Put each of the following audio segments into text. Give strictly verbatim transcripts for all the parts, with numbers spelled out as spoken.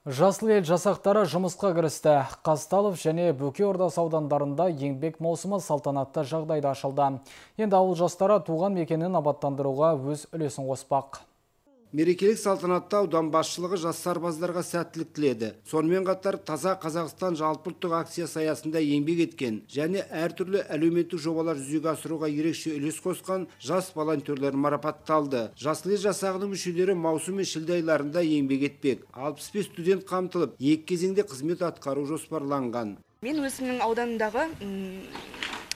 Жасыл ел жасақтары жұмысқа кірісті. Қазталов және Бөке Ордасы аудандарында еңбек маусымы салтанатты жағдайда ашылды. Енді ауыл жастары туған мекенін абаттандыруға өз үлесін қоспақ. Мерекелік салтанатта аудан басшылығы жас сарбаздарға сәттілік тіледі. Сонымен қатар Таза Қазақстан жалпыұлттық акциясы аясында еңбек еткен және әртүрлі әлеуметтік жобалар жүзеге асыруға ерекше үлес қосқан жас волонтерлер марапатталды. Жасыл ел жасағының мүшелері маусым мен шілде айларында еңбек етпек. алпыс бес студент қамтылып, екі кезеңде қызмет атқару жоспарланған. Мен өзімнің ауданымдағы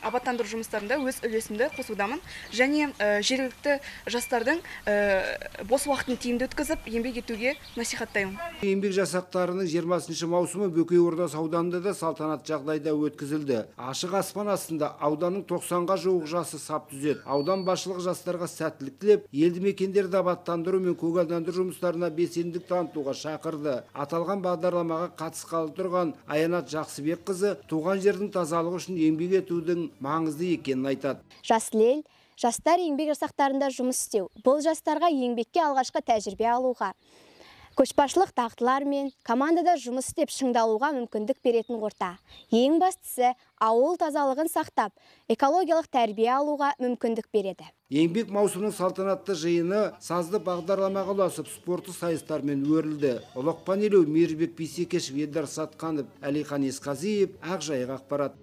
абаттандыру жұмыстарында өз үлесімді қосудамын және жергілікті жастардың бос уақытын тиімді өткізіп еңбек етуге насихаттаймын. Еңбек жасақтарының жиырмасыншы маусымы Бөкей Ордасы ауданында да салтанат жағдайда өткізілді. Ашық аспан астында ауданның тоқсанға жуық жасы сап түзеді. Аудан басшылығы жастарға сәттілік тілеп, елді мекендерді абаттандыру мен көгалдандыру жұмыстарына белсенділік танытуға шақырды. Аталған бағдарламаға қатысқалы тұрған Аянат Жақсыбекқызы туған жердің тазалығы үшін еңбек етудің маңызды екенін айтады. Жасыл ел жастар еңбек жасақтарында жұмыс істеу. Бұл жастарға еңбекке алғашқы тәжірибе алуға, көшбасшылық дағдылар мен командада жұмыс істеп шыңдалуға мүмкіндік беретін орта. Ең бастысы ауыл тазалығын сақтап, экологиялық тәрбие алуға мүмкіндік береді. Еңбек маусымының салтанатты жиыны сазды бағдарламаға ұласып спорты сайыстармен өрілді. Ұлықпан елеу Мейірбек Бейсекешев, Елдар Сатқанов, Әлихан Есқазиев, Ақжайық ақпарат.